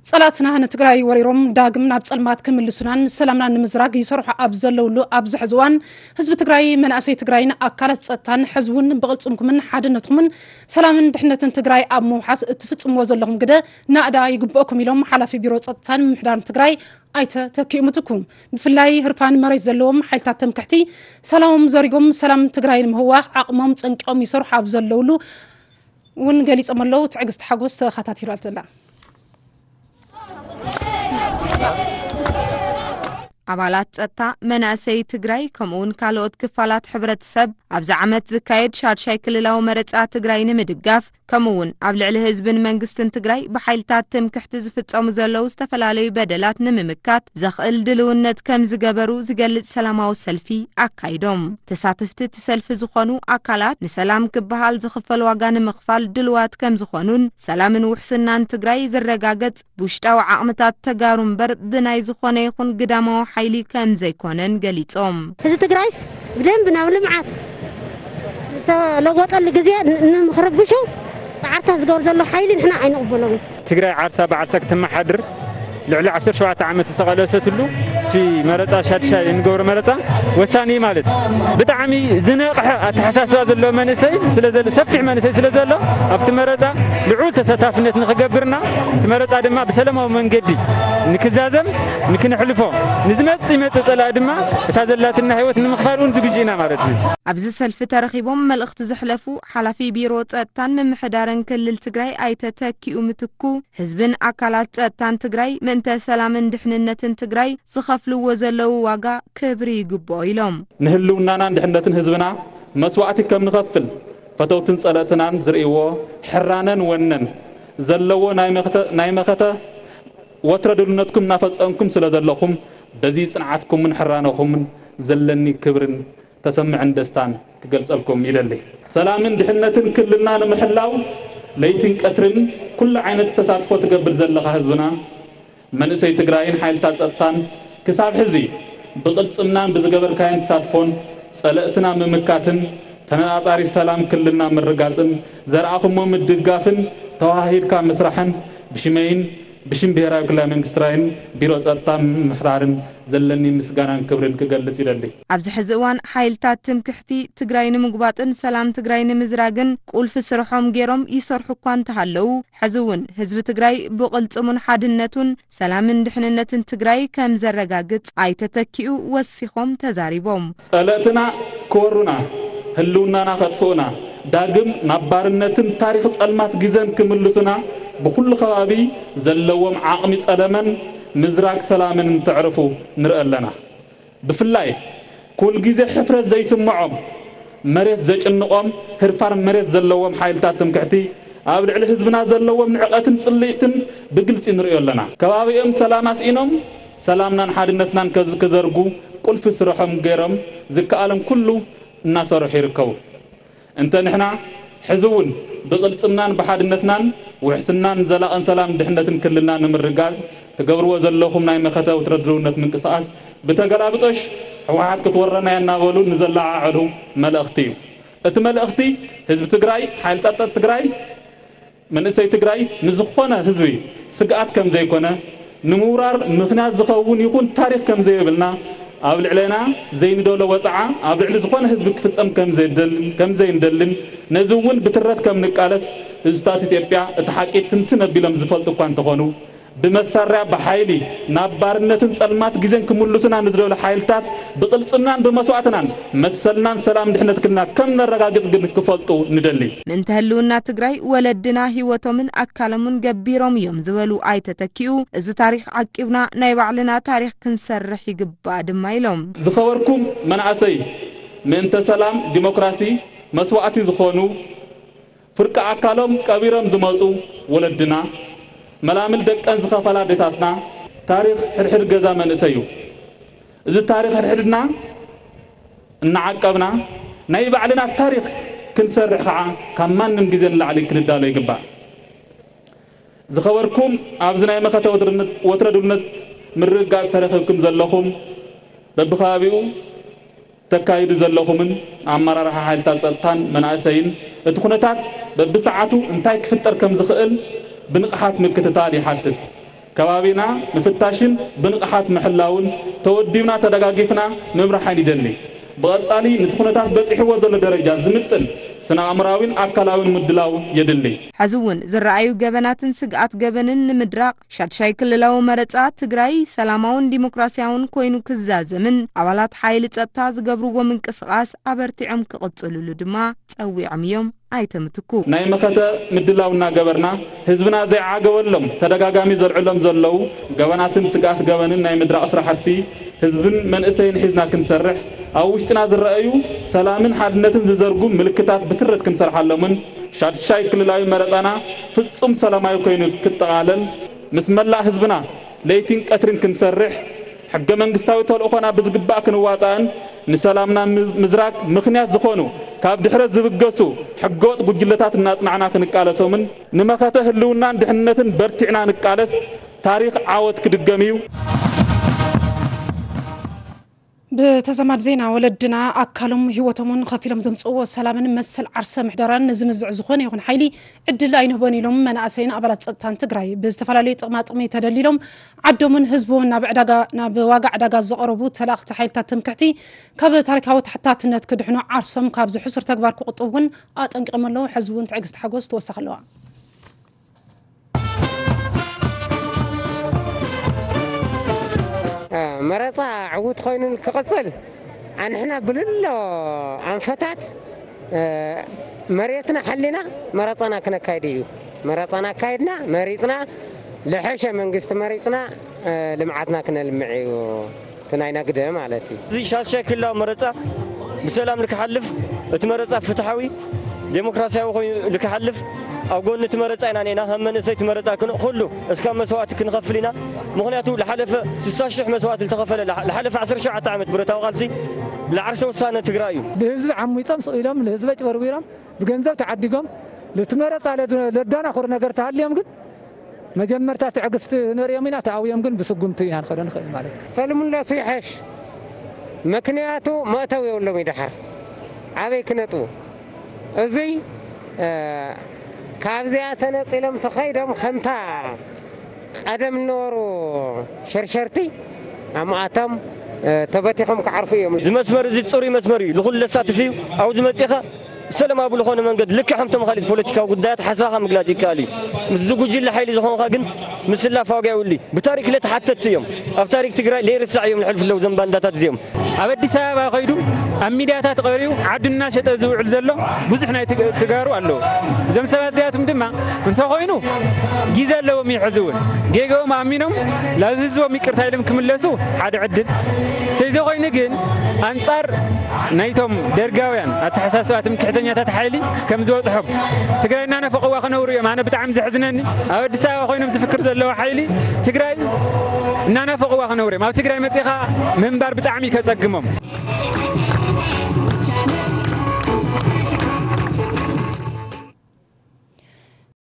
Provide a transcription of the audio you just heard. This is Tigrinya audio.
ጸላእትና ንትግራይ ወሪሮም ዳግም ናብ ጸልማት ክምልሱናን ሰላምና ንምዝራግ ይሰርሑ ኣብ ዘለውሉ ኣብዚ ሕዚ እዋን፣ ህዝቢ ትግራይ፣ መናእሰይ ትግራይን ኣካላት ጸጥታን ሕዚ እውን ብቕልጽምኩምን ሓድነትኩምን ሰላምን ድሕነትን ትግራይ ኣብ ምውሓስ እትፍጽምዎ ዘለኹም ግደ ናእዳ ይግብኦኩም ኢሎም ሓላፊ ቢሮ ጸጥታን ምምሕዳርን ትግራይ ኣይተ ተኪኡ ምትኩ። ብፍላይ ህርፋን መሬት ዘለዎም ሓይልታት ትምክሕቲ ሰላሞም ዘሪጎም ሰላም ትግራይ ንምህዋኽ ዓቕሞም ጸንቂቖም ይሰርሑ ኣብ ዘለውሉ እውን ገሊጾም ኣለዉ። ትዕግስቲ ሓጎስ ተኸታቲላትና ኣላ። ኣባላት ጸጥታ፣ መናእሰይ ትግራይ ከምኡውን ካልኦት ክፋላት ሕብረተሰብ ኣብዚ ዓመት ዝካየድ ሻድሻይ ክልላዊ መረጻ ትግራይ ንምድጋፍ ከምኡውን ኣብ ልዕሊ ህዝብን መንግስትን ትግራይ ብሓይልታት ትምክሕቲ ዝፍጸሙ ዘለዉ ዝተፈላለዩ በደላት ንምምካት ዘኽእል ድልውነት ከም ዝገበሩ ዝገልጽ ሰላማዊ ሰልፊ ኣካይዶም። ተሳተፍቲ እቲ ሰልፊ ዝኾኑ ኣካላት ንሰላም ክበሃል ዝኽፈል ዋጋ ንምኽፋል ድልዋት ከም ዝኾኑን ሰላምን ውሕስናን ትግራይ ዝረጋገጽ ብውሽጣዊ ዓቕምታት ተጋሩ እምበር ብናይ ዝኾነ ይኹን ግዳማዊ ሓይሊ ከም ዘይኮነን ገሊጾም። ህዝቢ ትግራይስ ብደንብ ናብ ልምዓት ዝተለወጠሉ ግዜ ን-፣ ንምኽርብሹ ፃዕርታት ዝገብር ዘሎ ሓይሊ ንሕና ኣይንቕበሎን። ትግራይ ዓርሳ ብዓርሳ ክትመሓድር ልዕሊ ዓሰርተ ሸውዓተ ዓመት ዝተቓለሰትሉ እቲ መረፃ ሻድሻይ እንገብሮ መረፃ ወሳኒ እዩ ማለት እዩ። ብጣዕሚ ዝነቕሐ ኣተሓሳስባ ዘለዎ መንእሰይ ስለ ዘሎ፣ ሰፊሕ መንእሰይ ስለ ዘሎ ኣብቲ መረፃ ልዑል ተሳታፍነት ንኽገብርና እቲ መረፃ ድማ ብሰላማዊ መንገዲ ንክዛዘም ንክንሕልፎ፣ ንዝመጽእ ይመጽእ ጸላኢ ድማ እታ ዘላትና ህይወት ንምኽፋል እውን ዝግጁ ኢና ማለት እዩ። ኣብዚ ሰልፊ ተረኺቦም መልእኽቲ ዘሕለፉ ሓላፊ ቢሮ ጸጥታን ምምሕዳርን ክልል ትግራይ ኣይተ ተኪኡ ምትኩ፣ ህዝብን ኣካላት ጸጥታን ትግራይ ምእንተ ሰላምን ድሕንነትን ትግራይ ዝኸፍልዎ ዘለዉ ዋጋ ክብሪ ይግብኦ ኢሎም። ንህልውናናን ድሕነትን ህዝብና መስዋእቲ ከም ንኸፍል ፈተውትን ጸለእትናን ዝርእይዎ ሕራነን ወነን ዘለዎ ናይ መኸተ፣ ናይ መኸተ ወትረ ድልውነትኩም እናፈጸምኩም ስለ ዘለኹም በዚ ጽንዓትኩምን ሕራነኹምን ዘለኒ ክብርን ተሰምዕን ደስታን ክገልጸልኩም ይደሊ። ሰላምን ድሕነትን ክልልና ንምሕላው ለይትን ቀትርን ኩሉ ዓይነት ተሳትፎ ትገብር ዘለኻ ህዝብና መንእሰይ ትግራይን ሓይልታት ጸጥታን ክሳብ ሕዚ ብቕልጽምናን ብዝገበርካዮን ተሳትፎን ጸለእትና ምምካትን ተነጻጻሪ ሰላም ክልልና ምርጋጽን ዘርኣኹሞ ምድጋፍን ተዋሃሂድካ ምስራሕን ብሽመይን ብሽም ብሄራዊ ክልላዊ መንግስቲ ትግራይን ቢሮ ጸጥታን ምምሕዳርን ዘለኒ ምስጋናን ክብርን ክገልጽ ይደሊ። ኣብዚ ሕዚ እዋን ሓይልታት ትምክሕቲ ትግራይ ንምጉባጥን ሰላም ትግራይ ንምዝራግን ቁልፊ ስርሖም ገይሮም ይሰርሑ እኳ እንተሃለዉ፣ ሕዚ እውን ህዝቢ ትግራይ ብቕልጽሙን ሓድነቱን ሰላምን ድሕንነትን ትግራይ ከም ዘረጋግጽ ኣይተ ተኪኡ ወሲኾም ተዛሪቦም። ጸለእትና ክወሩና፣ ህልውናና ከጥፍኡና፣ ዳግም ናብ ባርነትን ታሪኽ ጸልማት ግዘን ክምልሱና ብኹሉ ከባቢ ዘለዎም ዓቕሚ ጸለመን ምዝራግ ሰላምን እንተዕርፉ ንርኢ ኣለና። ብፍላይ ኩል ግዜ ሕፍረት ዘይስምዖም፣ መሬት ዘጭንቖም ህርፋን መሬት ዘለዎም ሓይልታት ትምክሕቲ ኣብ ልዕሊ ህዝብና ዘለዎም ንዕቐትን ጽልኢትን ብግልጺ ንርእዮ ኣለና። ከባቢኦም ሰላም ኣስኢኖም ሰላምናን ሓድነትናን ከዝ-፣ ክዘርጉ ቁልፊ ስርሖም ገይሮም ዝከኣሎም ኩሉ እናሰርሑ ይርከቡ። እንተ ንሕና ሕዚ እውን ብቕልጽምናን ብሓድነትናን ውሕስናን ዘላቕን ሰላም ድሕነትን ክልልና ንምርጋጽ ትገብርዎ ዘለኹም ናይ መኸተ ወትረ ድልውነት ምንቅስቓስ ብተገላብጦሽ ህወሓት ክትወረና እያ እናበሉ ንዘለዓዕሉ መልእኽቲ እዩ። እቲ መልእኽቲ ህዝቢ ትግራይ፣ ሓይልታት ትግራይ፣ መንእሰይ ትግራይ ንዝኾነ ህዝቢ ስግኣት ከም ዘይኮነ፣ ንምውራር ምኽንያት ዝኸውን ይኹን ታሪኽ ከም ዘይብልና፣ ኣብ ልዕሌና ዘይንደሎ ወፅዓ ኣብ ልዕሊ ዝኾነ ህዝቢ ክፍፀም ከም ዘይደልን፣ ከም ዘይንደልን፣ ነዚ እውን ብትረት ከም ንቃለስ ህዝብታት ኢትዮጵያ እቲ ሓቂ ትንትን ኣቢሎም ዝፈልጡ እኳ እንተኾኑ፣ ብመሳርያ ብሓይሊ ናብ ባርነትን ጸልማት ግዜን ክምልሱና ንዝደሉ ሓይልታት ብቕልጽምናን ብመስዋእትናን መሰልናን ሰላም ድሕነት ክልና ከም ነረጋግጽ ግን ክፈልጡ ንደሊ። ምእንተ ህልውና ትግራይ ወለድና ህይወቶምን ኣካሎምን ገቢሮም እዮም ዝበሉ ኣይተ ተኪኡ፣ እዚ ታሪኽ ዓቂብና ናይ ባዕልና ታሪኽ ክንሰርሕ ይግባእ ድማ ኢሎም። ዝኸበርኩም መናእሰይ፣ ምእንተ ሰላም ዲሞክራሲ መስዋእቲ ዝኾኑ ፍርቂ ኣካሎም ቀቢሮም ዝመጹ ወለድና፣ መላምል ደቀን ዝኸፈላ ኣዴታትና፣ ታሪኽ ሕድሕድ ገዛ መንእሰይ እዩ። እዚ ታሪኽ ሕድሕድና እናዓቀብና፣ ናይ ባዕልና ታሪኽ ክንሰርሕ ኸዓ ካብ ማንም ግዜ ንላዕሊ ክንዳሎ ይግባእ። ዝኸበርኩም ኣብዚ ናይ መኸተ ወትርነት-፣ ወትረ ድልነት ምርግጋጽ ተረኺብኩም ዘለኹም በብኸባቢኡ ተካይዱ ዘለኹምን ኣመራርሓ ሓይልታት ጸጥታን መናእሰይን እቲ ኩነታት በብሰዓቱ እንታይ ክፍጠር ከም ዝኽእል ብንቕሓት ምክትታል ይሓትት። ከባቢና ምፍታሽን ብንቕሓት ምሕላውን ተወዲብና ተደጋጊፍና ምምራሕን ይደሊ። ብቐጻሊ ነቲ ኩነታት በጺሕዎ ዘሎ ደረጃ ዝምጥን ስነ ኣእምራዊን ኣካላዊን ምድላው የድሊ። ሕዚ እውን ዝረኣዩ ገበናትን ስግኣት ገበንን ንምድራቕ ሻድሻይ ክልላዊ መረጻ ትግራይ ሰላማውን ዲሞክራሲያውን ኮይኑ ክዛዘምን ኣባላት ሓይሊ ጸጥታ ዝገብርዎ ምንቅስቓስ ኣበርቲዖም ክቕጽልሉ ድማ ጸዊዖም እዮም። ኣይተ ምትኩ። ናይ መኸተ ምድላው እናገበርና ህዝብና ዘይዓገበሎም ተደጋጋሚ ዘልዕሎም ዘለዉ ገበናትን ስግኣት ገበንን ናይ ምድራቕ ስራሕቲ ህዝብን መንእሰይን ሒዝና ክንሰርሕ ኣብ ውሽጥና ዝረኣዩ ሰላምን ሓድነትን ዝዘርጉ ምልክታት ብትረት ክንሰርሓሎምን ሻድሻይ ክልላዊ መረፃና ፍፁም ሰላማዊ ኮይኑ ክጠቓለል ምስ መላእ ህዝብና ለይቲን ቀትሪን ክንሰርሕ ሕገ መንግስታዊ ተልእኾና ብዝግባእ ክንዋፃእን ንሰላምና ምዝ- ምዝራግ ምኽንያት ዝኾኑ ካብ ድሕረት ዝብገሱ ሕገወጥ ጉጅለታት እናፅናዕና ክንቃለሶምን ንመኸተ ህልውናን ድሕንነትን በርቲዕና ንቃለስ ታሪኽ ዓወት ክድገም እዩ። ብተዛማድ ዜና ወለድና ኣካሎም ህይወቶምን ከፊሎም ዘምፅእዎ ሰላምን መሰል ዓርሰ ምሕደራን ንዝምዝዕ ዝኾነ ይኹን ሓይሊ ዕድል ኣይንህቦን ኢሎም መናእሰይን ኣባላት ፀጥታን ትግራይ ብዝተፈላለዩ ጥቕማ ጥቕሚ ተደሊሎም ዓዶምን ህዝቦምን ናብ ዕዳጋ ናብ ዋጋ ዕዳጋ ዘቐረቡ ተላእኽቲ ሓይልታት ትምክሕቲ ካብ ታሪካዊ ተሓታትነት ክድሕኑ ዓርሶም ካብዚ ሕሱር ተግባር ክቑጥቡ እውን ኣጠንቂቖም ኣለዉ። ሕዚ እውን ትዕግስቲ ሓጎስ ተወሳኺ ኣለዋ። መረፃ ዕዉት ኮይኑ ክቕፅል ኣንሕና ብልሎ ኣንፈታት መሬትና ሓሊና መረፃና ክነካይድ እዩ። መረፃና ኣካይድና መሪፅና ልሐሸ መንግስቲ መሪፅና ልምዓትና ክነልምዕ እዩ። እቲ ናይና ግደ ማለት እዩ። እዚ ሻድሻይ ክልላዊ መረፃ ብሰላም ልክሓልፍ፣ እቲ መረፃ ፍትሓዊ ዴሞክራሲያዊ ኮይኑ ልክሓልፍ ኣብ ጎኒ እቲ መረፃ ኢና ኔና ከም መንእሰይ እቲ መረፃ ክን ኩሉ እስካብ መስዋእቲ ክንኸፍል ኢና። ምኽንያቱ ልሓለፈ ስሳ ሽሕ መስዋእቲ ዝተኸፈለ ልሓለፈ ዓሰርተ ሸውዓተ ዓመት ብረታዊ ቃልሲ ልዓርሰ ውሳነ ትግራይ እዩ። ልህዝቢ ዓሚፆም ስቕ ኢሎም ልህዝቢ ኣጭበርቢሮም ብገንዘብ ተዓዲጎም ልትመረፃ ለዳናኹር ነገር ተሃልዮም ግን መጀመርታ ትዕግስቲ ነሪኦም ኢና ተኣውዮም ግን ብስጉምቲ ኢና ንኸዶ ንኽእል ማለት እዩ። ተልምለሱ ይሐሽ። ምክንያቱ መእተው የብሎም ይድሓር ኣበይ ክነጥቡ እዙይ ካብዚኣ ተነፂሎም ተኸይዶም ከምታ ቀደም ዝነበሩ ሸርሸርቲ ኣማኣቶም ተበቲኾም ክዓርፉ እዮም። እዚ መስመር እዚ ፅሩይ መስመር እዩ፣ ንኹሉ ዘሳትፍ እዩ። ኣብዚ መፂኻ ሰላማዊ ብዝኾነ መንገድ ልክዕ ከምቶም ካልኦት ፖለቲካዊ ጉዳያት ሓሳብኻ ምግላፅ ይከኣል እዩ። ምስዚ ጉጅለ ሓይሊ ዝኾንካ ግን ምስላፍ ዋጋ የብሉ። ብታሪክ ለተሓተትቲ እዮም። ኣብ ታሪክ ትግራይ ለይርሳዕ እዮም ልሕልፉ ኣለዉ እዞም ባንዳታት እዚኦም። ኣብ ኣዲስ ኣበባ ከይዱ ኣብ ሚድያታት ቀሪቡ ዓዱ እናሸጠ ዝውዕል ዘሎ ብዙሕ ናይ ትግ- ትጋሩ ኣለዉ። እዞም ሰባት እዚኣቶም ድማ እንተኾይኑ ግዜ ኣለዎም እዩ። ሕዚ እውን ጌግኦም ኣሚኖም ናብ ህዝቦም ይቅርታ ኢሎም ክምለሱ ሓደ ዕድል ተይዘኾይኑ ግን ኣንፃር ናይቶም ደርጋውያን ኣተሓሳስባ ትምክሕተኛታት ሓይሊ ከም ዝበፅሖም ትግራይ እናናፈቕዋ ክነብሩ እዮም። ኣነ ብጣዕሚ ዘሕዝነኒ ኣብ ኣዲስ ኣበባ ኮይኖም ዝፍክር ዘለዉ ሓይሊ ትግራይ እናናፈቕዋ ክነብሩ እዮም። ኣብ ትግራይ መፂኻ ምንባር ብጣዕሚ እዩ ከፀግሞም።